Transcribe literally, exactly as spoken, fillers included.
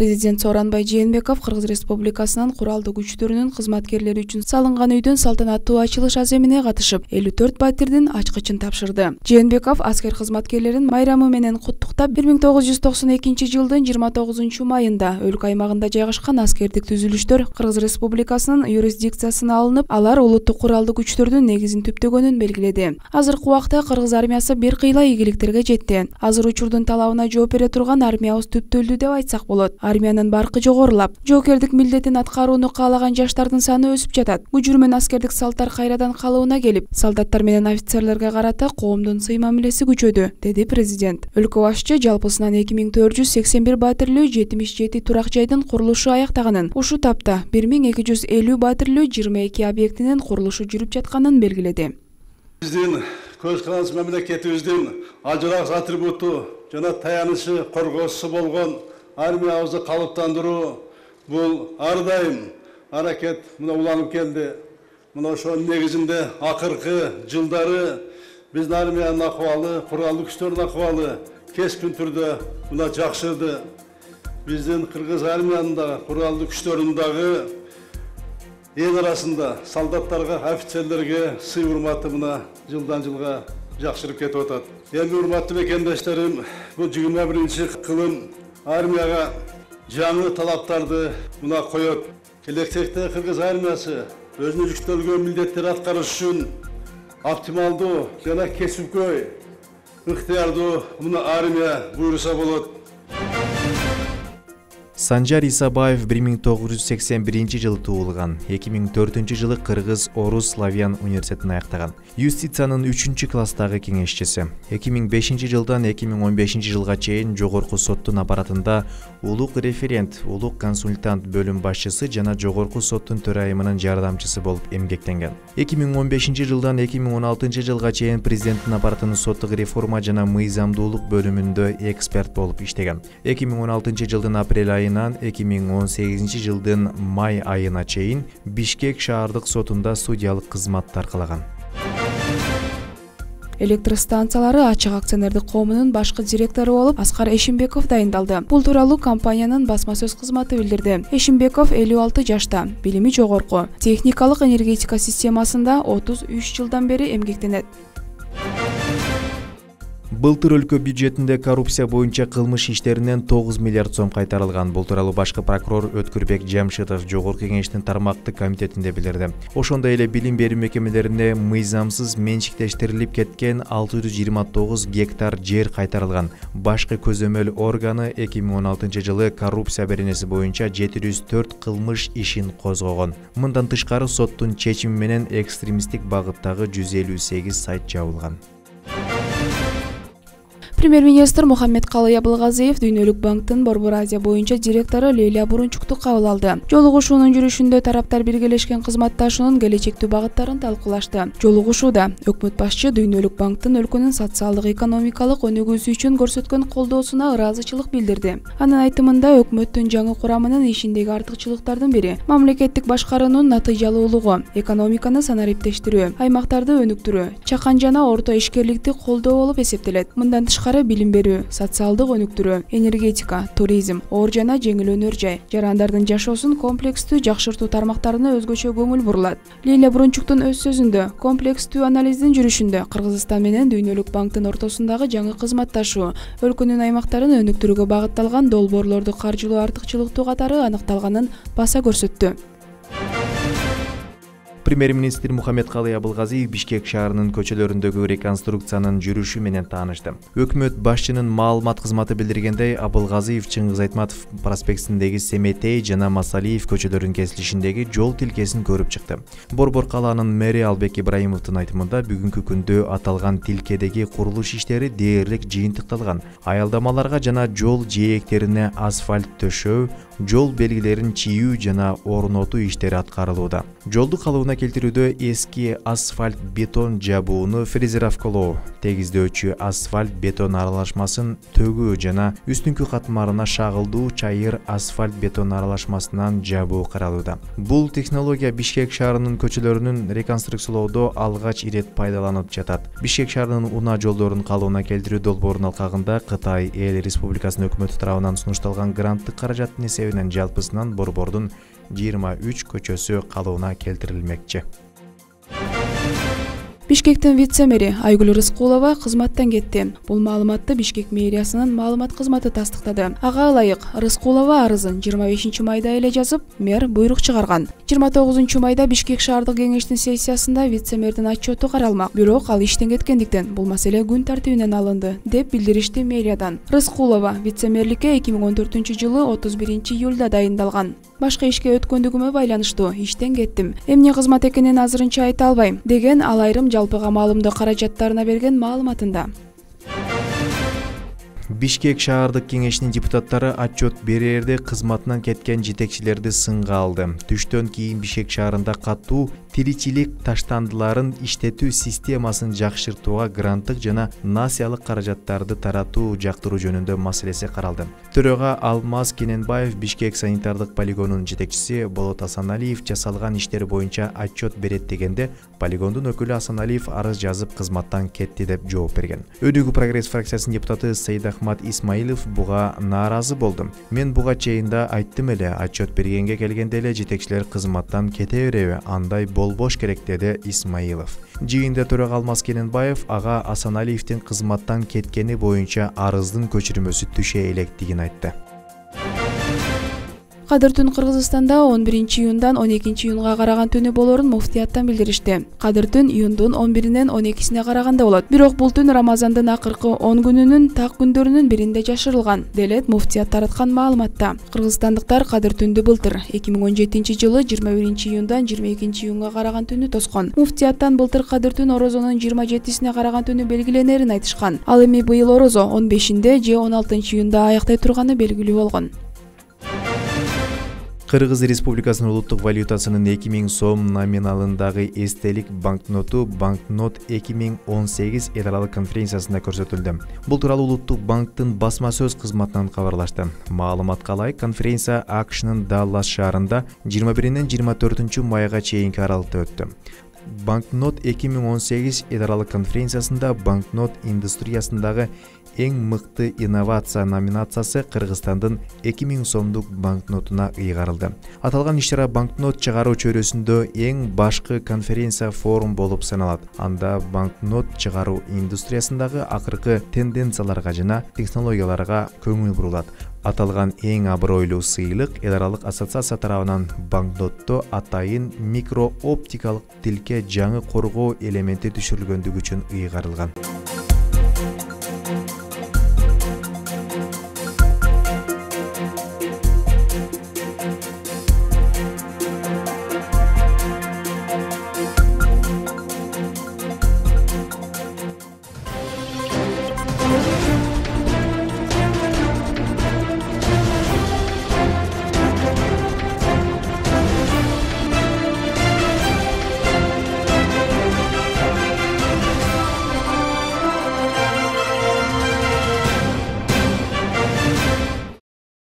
Президент Сооронбай Жээнбеков Кыргыз Республикасынын куралдуу күчтөрүнүн кызматкерлери үчүн салынган үйдүн салтанаттуу ачылыш аземине катышып, элүү төрт батирдин ачкычын тапшырды. Жээнбеков аскер кызматкерлерин майрамы менен куттуктап, бир миң тогуз жүз токсон экинчи жылдын жыйырма тогузунчу майында өлкө аймагында жайгашкан аскердик түзүлүштөр Кыргыз Республикасынын юрисдикциясына алынып, алар улуттук куралдуу күчтөрдүн негизин түптөгөнүн белгиледи. Азыркы убакта Кыргыз армиясы бир кыйла ийгиликтерге жетти. Азыр учурдун талабына жооп бере турган армиябыз түптөлдү деп айтсак болот. Армиянын баркы жогорулап, жоокердик милдетин аткарууну каалаган жаштардын саны өсүп жатат. Күжүр менен аскердик салттар кайрадан калыбына келип, солдаттар менен офицерлерге карата коомдун сый мамилеси күчөдү, деди президент. Өлкө башчы жалпысынан эки миң төрт жүз сексен бир батирлүү жетимиш жети турак жайдын курулушу аяктаганын, ушул тапта бир миң эки жүз элүү батирлүү жыйырма эки объектинин курулушу жүрүп жатканын белгиледи. Биздин көз карандысыз мамлекетибиздин ажырак атрибуту жана таянычы, коргоосу болгон армиябызды калыптандыруу бул ар дайым аракет мына уланып келди. Мына ошонун негизинде акыркы жылдары биздин армиянын акыбалы, куралдуу күчтөрдүн акыбалы кескин түрдө мына жакшырды. Биздин кыргыз армиянын да куралдуу күчтөрүнүн дагы эл арасында солдаттарга, офицерлерге сый урматы мына жылдан жылга жакшырып кетип атат. Эми урматтуу мекендештерим, бул жыйырма биринчи кылым армияга жаңы талаптарды мына коет. Келечекте Кыргыз армиясы өзүнүн жүктөлгөн милдеттерди аткарыш үчүн оптималдуу жана кесипкөй, ыктыярдуу мына армия буйруса болот. Санжар Исабаев бир миң тогуз жүз сексен биринчи жылы туулган. эки миң төртүнчү жылы Кыргыз Орус Славян университетин аяктаган. Юстициянын үчүнчү класстагы кеңешчиси. эки миң бешинчи жылдан эки миң он бешинчи жылга чейин Жогорку соттун аппаратында улук референт, улук консультант бөлүм башчысы жана Жогорку соттун төрайымынын жардамчысы болуп эмгектенген. эки миң он бешинчи жылдан эки миң он алтынчы жылга чейин президенттин аппаратынын соттук реформа жана мыйзамдуулук бөлүмүндө эксперт болуп иштеген. эки миң он алтынчы жылдын апрель айынан эки миң он сегизинчи жылдын май айына чейин Бишкек шаардык сотунда судьялык кызматты аркалаган. Электр станциялары ачык акционердик коомунун башкы директору болуп Аскар Эшимбеков дайындалды. Бул тууралуу компаниянын басма сөз кызматы билдирди. Эшимбеков элүү алты жашта, билими жогорку, техникалык энергетика системасында отуз үч жылдан бери эмгектенет. Былтыр өлкө бюджетинде коррупция боюнча кылмыш иштеринен тогуз миллиард сом кайтарылган. Бул тууралуу башкы прокурор Өткүрбек Жамшитов Жогорку кеңештин тармактык комитетинде билдирди. Ошондой эле билим берүү мекемелерине мыйзамсыз менчиктештирилип кеткен алты жүз жыйырма тогуз гектар жер кайтарылган. Башкы көзөмөл органы эки миң он алтынчы жылы коррупция беренеси боюнча жети жүз төрт кылмыш ишин козгогон. Мындан тышкары соттун чечими менен экстремисттик багыттагы жүз элүү сегиз сайт жабылган. Премьер-министр Мухаммедкалый Абылгазиев Дүйнөлүк банктын Борбор Азия боюнча директору Лейля Бурунчукту кабыл алды. Жолугушуунун жүрүшүндө тараптар биргелешкен кызматташуунун келечектүү багыттарын талкуулашты. Жолугушууда өкмөт башчы Дүйнөлүк банктын өлкөнүн социалдык экономикалык өнүгүүсү үчүн көрсөткөн колдоосуна ыраазычылык билдирди. Анын айтымында өкмөттүн жаңы курамынын ишиндеги артыкчылыктардын бири мамлекеттик башкаруунун натыйжалуулугу, экономиканы санариптештирүү, аймактарды өнүктүрүү, чакан жана орто ишкерликти колдоо болуп эсептелет. Мындан тышкары билим берүү, социалдык өнүктүрүү, энергетика, туризм, оор жана жеңил өнөр жай, жарандардын жашоосун комплекстүү жакшыртуу тармактарына өзгөчө көңүл бурулат. Лейля Бурунчуктун өз сөзүндө, комплекстүү анализдин жүрүшүндө Кыргызстан менен Дүйнөлүк банктын ортосундагы жаңы кызматташуу, өлкөнүн аймактарын өнүктүрүүгө багытталган долбоорлорду каржылоо артыкчылыктуу катары аныкталганын баса көрсөттү. Премьер-министр Мухаммедкалый Абылгазиев Бишкек шаарынын көчөлөрүндөгү реконструкциянын жүрүшү менен таанышты. Өкмөт башчынын маалымат кызматы билдиргендей, Абылгазиев Чыңгыз Айтматов проспектисиндеги Семетей жана Масалиев көчөлөрүнүн кесилишиндеги жол тилкесин көрүп чыкты. Борбор калаанын мэри Албек Ибраимовдун айтымында бүгүнкү күндө аталган тилкедеги курулуш иштери дээрлик жыйынтыкталган. Аялдамаларга жана жол жээктерине асфальт төшөө, жол белгилерин чийүү жана орнотуу иштери аткарылууда. Жолду калыбына келтирүүдө эски асфальт бетон жабууну фрезеровкалоо, тегиздөөчү асфальт бетон аралашмасын төгүү жана үстүнкү катмарына шагылдуу чайыр асфальт бетон аралашмасынан жабуу каралууда. Бул технология Бишкек шаарынын көчөлөрүнүн реконструкциялоодо алгач ирет пайдаланып жатат. Бишкек шаарынын унаа жолдорун калыбына келтирүү долбоорунун алкагында Кытай Эл Республикасынын өкмөтү тарабынан сунушталган гранттык каражаттын эсебинен жалпысынан борбордун жыйырма үч көчөсү калыбына келтирилмекчи. Бишкектин вице-мэри Айгүл Рыскулова кызматтан кетти. Бул маалыматты Бишкек мэриясынын маалымат кызматы тастыктады. Ага ылайык, Рыскулова арызын жыйырма бешинчи майда эле жазып, мэр буйрук чыгарган. жыйырма тогузунчу майда Бишкек шаардык кеңештин сессиясында вице-мэрдин отчету каралмак. Бирок ал иштен кеткендиктен бул маселе күн тартибинен алынды, деп билдиришти мэриядан. Рыскулова вице-мэрликке эки миң он төртүнчү жылы отуз биринчи июлда дайындалган. Башка ишке өткөндүгүмө байланыштуу иштен кеттим. Эмне кызмат экенин азырынча айта албайм, деген ал айрым жалпыга маалымдоо каражаттарына берген маалыматында. Бишкек шаардык кеңешинин депутаттары отчет берерде кызматынан кеткен жетекчилерди сынга алды. Түштөн кийин Бишкек шаарында катуу тиричилик таштандыларын иштетүү системасын жакшыртууга гранттык жана насиялык каражаттарды таратуу жактыруу жөнүндө маселеси каралды. Төрөгө Алмаз Кененбаев Бишкек санитардык полигонунун жетекчиси Болот Асаналиев жасалган иштер боюнча отчет берет дегенде, полигондун өкүлү Асаналиев арыз жазып кызматтан кетти деп жооп берген. Өдүгү Прогресс фракциясынын депутаты Сайдахмат Исмаилов буга нааразы болду. Мен буга чейинде айттым эле, отчет бергенге келгенде эле жетекчилер кызматтан кете береби, андай болбош керек, деди Исмаилов. Жыйында төрөгө Алмаз Кененбаев ага Асаналиевдин кызматтан кеткени боюнча арыздын көчүрмөсү түшө электигин айтты. Кадыр түн Кыргызстанда он биринчи июндан он экинчи июнга караган түнү болорун муфтияттан билдиришти. Кадыр түн июндун он биринен он экисине караганда болот. Бирок бул түн Рамазандын акыркы он күнүнүн так күндөрүнүн биринде жашырылган, делет муфтият тараткан маалыматта. Кыргызстандыктар Кадыр түндү былтыр эки миң он жетинчи жылы жыйырма биринчи июндан жыйырма экинчи июнга караган түнү тоскон. Муфтияттан былтыр Кадыр түн Орозонун жыйырма жетисине караган түнү белгиленерин айтышкан. Ал эми быйыл Орозо он бешинде же он алтынчы июнда аяктай турганы белгилүү болгон. Кыргыз Республикасынын улуттук валютасынын эки миң сом номиналындагы эстелик банкноту банкнот эки миң он сегиз эл аралык конференциясында көрсөтүлдү. Бул тууралуу Улуттук банктын басма сөз кызматынан кабарлашты. Маалыматка ылайык, конференция АКШнын Даллас шаарында жыйырма биринен жыйырма төртүнчү майга чейинки аралыкта өттү. Банкнот эки миң он сегиз эл аралык конференциясында банкнот индустриясындагы эң мыкты инновация номинациясы Кыргызстандын эки миң сомдук банкнотуна ыйгарылды. Аталган иш-чара банкнот чыгаруу чөйрөсүндө эң башкы конференция форум болуп саналат. Анда банкнот чыгаруу индустриясындагы акыркы тенденцияларга жана технологияларга көңүл бурулат. Аталган эң абройлуу сыйлык эл аралык ассоциация тарабынан банкнотто атайын микрооптикалык тилке жаңы коргоо элементи түшүрүлгөндүгү үчүн ыйгарылган.